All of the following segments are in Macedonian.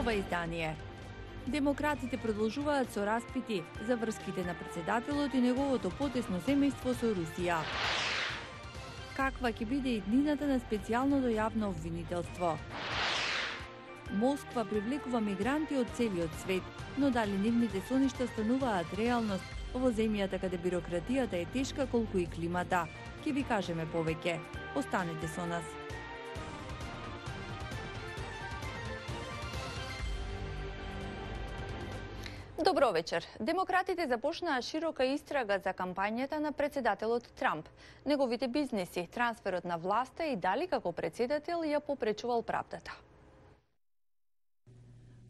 ова издание. Демократите продолжуваат со распити за врските на претседателот и неговото потесно семејство со Русија. Каква ќе биде иднината на специјалното јавно обвинителство? Москва привлекува мигранти од целиот свет, но дали нивните соништа стануваат реалност во земјата каде бирократијата е тешка колку и климата? Ќе ви кажеме повеќе. Останете со нас. Добро вечер. Демократите започнаа широка истрага за кампањата на претседателот Трамп, неговите бизнеси, трансферот на власта и дали како претседател ја попречувал правдата.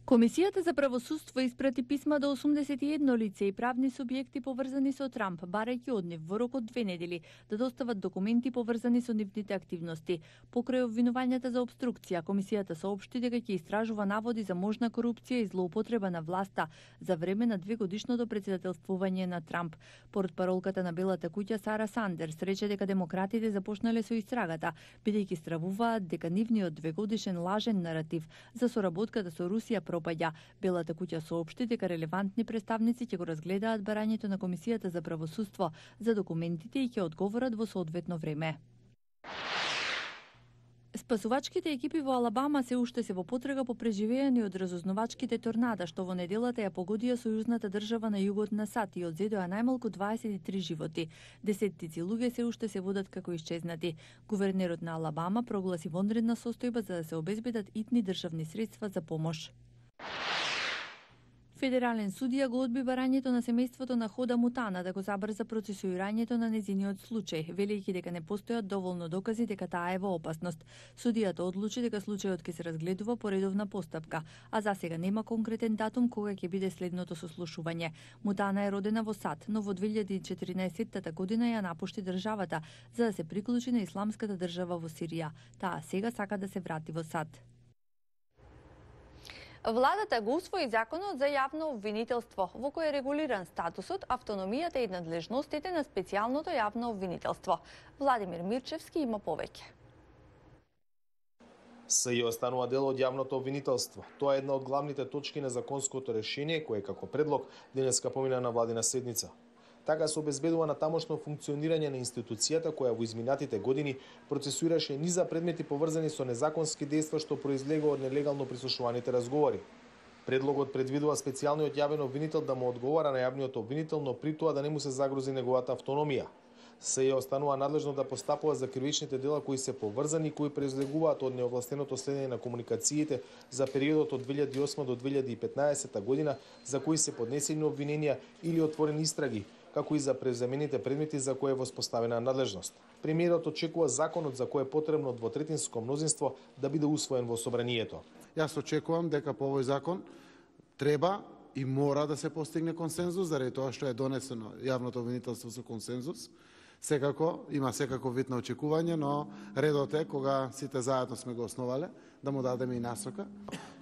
Комисијата за правосудство испрати писма до 81 лице и правни субјекти поврзани со Трамп, барајќи од нив во рок од 2 недели да достават документи поврзани со нивните активности. Покрај обвинувањата за обструкција, комисијата соопшти дека ќе истражува наводи за можна корупција и злоупотреба на власта за време на 2-годишното претседателствување на Трамп. Портпаролката на Белата куќа Сара Сандерс рече дека демократите започнале со истрагата, бидејќи стравуваат дека нивниот 2-годишен лажен наратив за соработката со Русија пропаѓа. Белата куќа соопшти дека релевантни представници ќе го разгледаат барањето на Комисијата за правосудство за документите и ќе одговорат во соодветно време. Спасувачките екипи во Алабама се уште се во потрага по преживеани од разузнавачките торнада, што во неделата ја погодија сојузната држава на југот на САД и одзедоа најмалку 23 животи. Десеттици луѓе се уште се водат како исчезнати. Гувернерот на Алабама прогласи вонредна состојба за да се обезбедат итни државни средства за помош. Федерален судија го одби барањето на семејството на Хода Мутана да го забрза процесуирањето на незиниот случај, велејќи дека не постојат доволно докази дека таа е во опасност. Судијата одлучи дека случајот ќе се разгледува по редовна постапка, а засега нема конкретен датум кога ќе биде следното сослушување. Мутана е родена во САД, но во 2014 година ја напушти државата за да се приклучи на исламската држава во Сирија. Таа сега сака да се врати во САД. Владата го усвои законот за јавно обвинителство, во кој е регулиран статусот, автономијата и надлежностите на специјалното јавно обвинителство. Владимир Мирчевски има повеќе. СЈО останува дел од јавното обвинителство. Тоа е една од главните точки на законското решение, кое како предлог денеска помина на владина седница. Така се обезбедува на тамошно функционирање на институцијата која во изминатите години процесуираше низа предмети поврзани со незаконски дејства што произлегува од нелегално прислушуваните разговори. Предлогот предвидува специјалниот јавен обвинител да му одговара на јавниот обвинител, но при тоа да не му се загрози неговата автономија. СЈО останува надлежно да постапува за кривичните дела кои се поврзани и кои произлегуваат од неовластеното следење на комуникациите за периодот од 2008 до 2015 година, за кои се поднесени обвиненија или отворени истраги, како и за преземените предмети за кои е воспоставена надлежност. Премиерот очекува законот за кој е потребно двотретинско мнозинство да биде усвоен во собранието. Јас очекувам дека по овој закон треба и мора да се постигне консензус, заради тоа што е донесено јавното обвинителство со консензус. Секако, има секако вид на очекување, но редот е, кога сите заедно сме го основале, да му дадеме и насока,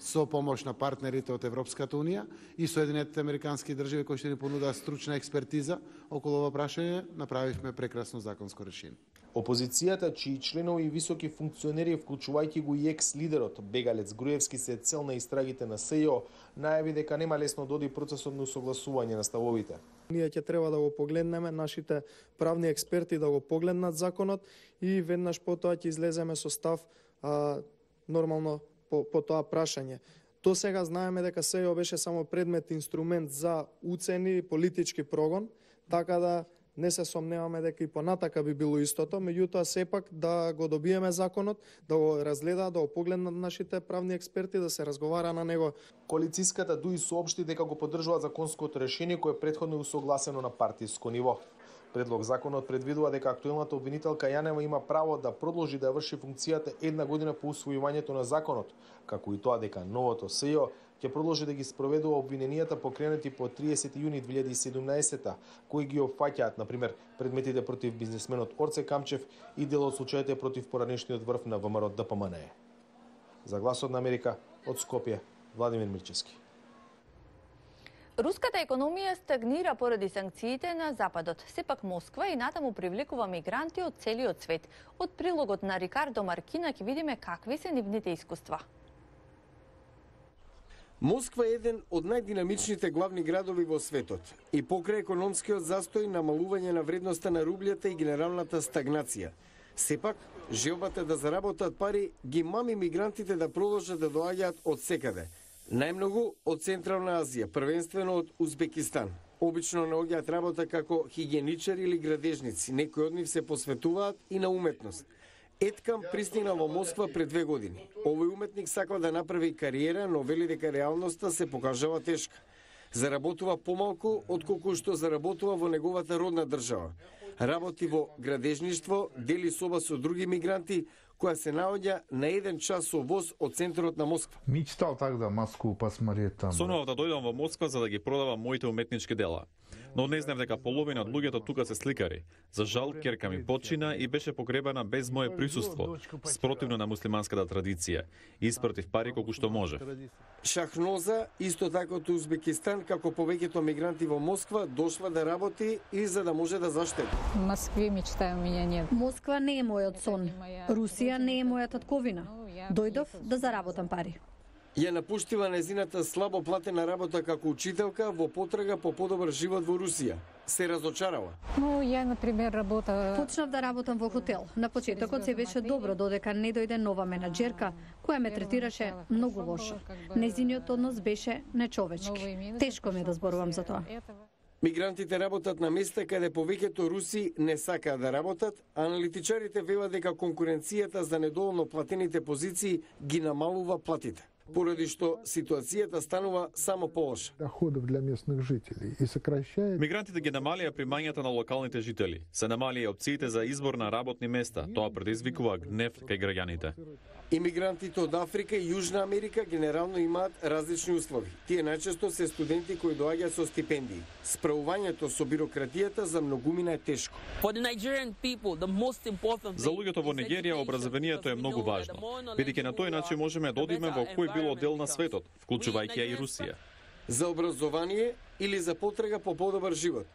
со помош на партнерите од Европската Унија и Соединетите Американски држави кои што ни понудат стручна експертиза околу ова прашање, направивме прекрасно законско решение. Опозицијата, чии членови и високи функционери, вклучувајќи го и екс-лидерот Бегалец Груевски, се цел на истрагите на СЈО, најави дека нема лесно да оди процесот на усогласување на ставовите. Ние ќе треба да го погледнеме, нашите правни експерти да го погледнат законот и веднаш потоа ќе излеземе со став нормално по тоа прашање. До сега знаеме дека СЈО беше само предмет, инструмент за уцени, политички прогон, така да не се сомневаме дека и понатака би било истото, меѓутоа сепак да го добиеме законот, да го разгледаат, да го погледнат нашите правни експерти, да се разговара на него. Коалицијската ДУИ соопшти дека го поддржува законското решение кое претходно е усогласено на партиско ниво. Предлог законот предвидува дека актуелната обвинителка Јанева има право да продолжи да врши функцијата една година по усвојувањето на законот, како и тоа дека новото СЈО ќе продолжи да ги спроведува обвиненијата покренати по 30 јуни 2017, кои ги опфаќаат, например, предметите против бизнисменот Орце Камчев и дел од случаите против поранешниот врв на ВМРО ДПМНЕ. За Гласот на Америка, од Скопје, Владимир Мирчевски. Руската економија стагнира поради санкциите на Западот. Сепак Москва и натаму привлекува мигранти од целиот свет. Од прилогот на Рикардо Маркина ќе видиме какви се нивните искуства. Москва е еден од најдинамичните главни градови во светот и покрај економскиот застој, намалување на вредноста на рублјата и генералната стагнација. Сепак, желбата да заработат пари ги мами мигрантите да продолжат да доаѓаат од секаде. Најмногу од Централна Азија, првенствено од Узбекистан. Обично наоѓаат работа како хигиеничари или градежници, некои од нив се посветуваат и на уметност. Еткам пристигна во Москва пред 2 години. Овој уметник сакал да направи кариера, но вели дека реалноста се покажава тешка. Заработува помалку отколку што заработува во неговата родна држава. Работи во градежништво, дели соба со други мигранти, која се наоѓа на 1 час со воз од центарот на Москва. Мечтал тогда Москву посмотреть там. Сонував да дојдам во Москва за да ги продавам моите уметнички дела. Но не знам дека половина од луѓето тука се сликари. За жал, ќерка ми почина и беше погребана без мое присуство, спротивно на муслиманската традиција, испратив пари колку што можев. Шахноза, исто така од Узбекистан, како повеќето мигранти во Москва, дошла да работи и за да може да заштеди. В Москве мечта у меня нет. Москва не е мојот сон. Русија не е моја татковина. Дојдов да заработам пари. Ја напуштила незината слабо платена работа како учителка во потрага по подобар живот во Русија. Се разочарала. Ну, ја, например, работа... Почнав да работам во хотел. На почетокот се беше добро, додека не дојде нова менаџерка, која ме третираше многу лошо. Незиниот однос беше нечовечки. Тешко ми е да зборувам за тоа. Мигрантите работат на места каде повеќето руси не сакаат да работат, а аналитичарите велат дека конкуренцијата за недоволно платените позиции ги намалува платите, поради што ситуацијата станува само полоша. Доходов для местных жителей и сокращает. Мигрантите ги намалија примањата на локалните жители. Се намалија опциите за избор на работни места. Тоа предизвикува гнев кај граѓаните. Имигрантите од Африка и Јужна Америка генерално имаат различни услови. Тие најчесто се студенти кои доаѓаат со стипендии. Справувањето со бирократијата за многумина е тешко. За луѓето во Нигерија образованието е многу важно, бидејќи на тој начин можеме да одиме во кој било дел на светот, вклучувајќи и Русија. За образование или за потрага по подобар живот.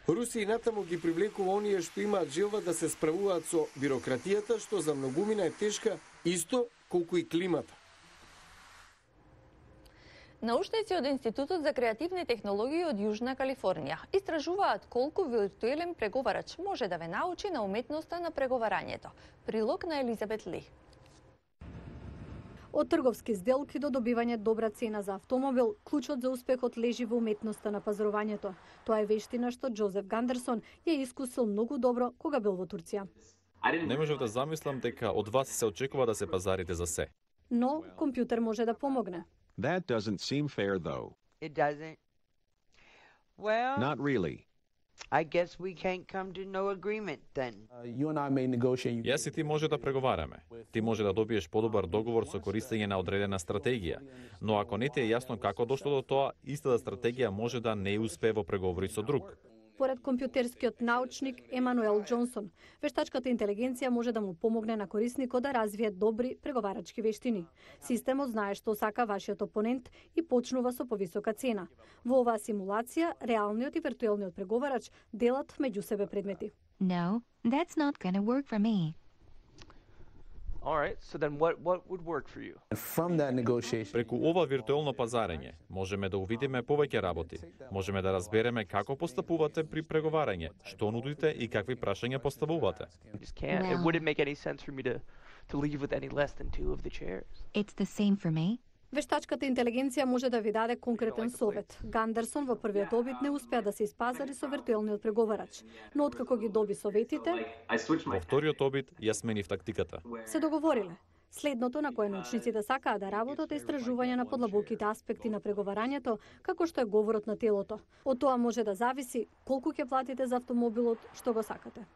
Русија натаму ги привлекува оние што имаат желба да се справуваат со бирократијата, што за многумина е тешка, исто колку и климата. Научници од Институтот за креативни технологии од Јужна Калифорнија истражуваат колку виртуелен преговарач може да ве научи на уметноста на преговарањето. Прилог на Елизабет Ли. Од трговски сделки до добивање добра цена за автомобил, клучот за успехот лежи во уметноста на пазарувањето. Тоа е вештина што Џозеф Гандерсон ја искусил многу добро кога бил во Турција. Не можев да замислам дека од вас се очекува да се пазарите за се. Но компјутер може да помогне. That doesn't seem fair, though. It doesn't? Well, Not really. I guess we can't come to no agreement then. Јас и ти може да преговараме. Ти може да добиеш подобар договор со користење на одредена стратегија. Но ако не ти е јасно како дошло до тоа, истата стратегија може да не успее во преговори со друг. Според компјутерскиот научник Емануел Џонсон, вештачката интелигенција може да му помогне на корисникот да развие добри преговарачки вештини. Системот знае што сака вашиот опонент и почнува со повисока цена. Во оваа симулација, реалниот и виртуелниот преговарач делат меѓу себе предмети. No, that's not gonna work for me. All right, so then what would work for you? Преку ова виртуелно пазарење можеме да увидиме повеќе работи. Можеме да разбереме како постапувате при преговарање, што нудите и какви прашања поставувате. It wouldn't make any sense for me to leave with any less than 2 of the chairs. It's the same for me. Вештачката интелигенција може да ви даде конкретен совет. Гандерсон во првиот обид не успеа да се испазари со виртуелниот преговарач, но откако ги доби советите, Во вториот обид ја сменив тактиката. се договориле. Следното на кое научниците сакаат да работат е истражување на подлабоките аспекти на преговарањето, како што е говорот на телото. Од тоа може да зависи колку ќе платите за автомобилот што го сакате.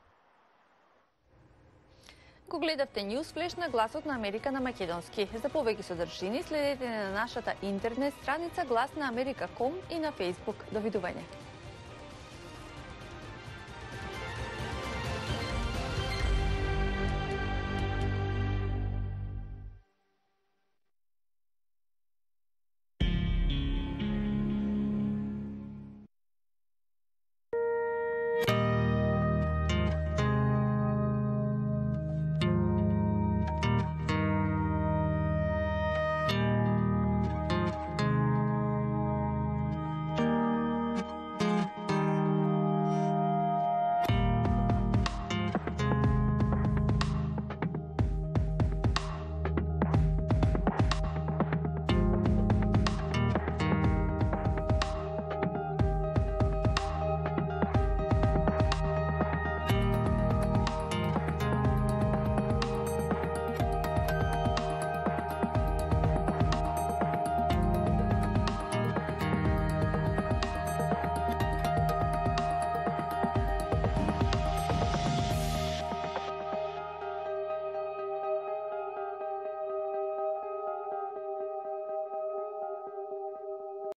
Ако гледавте Newsflash на Гласот на Америка на македонски. За повеќе содржини следете на нашата интернет страница Глас на Америка.com и на Facebook. Довидување.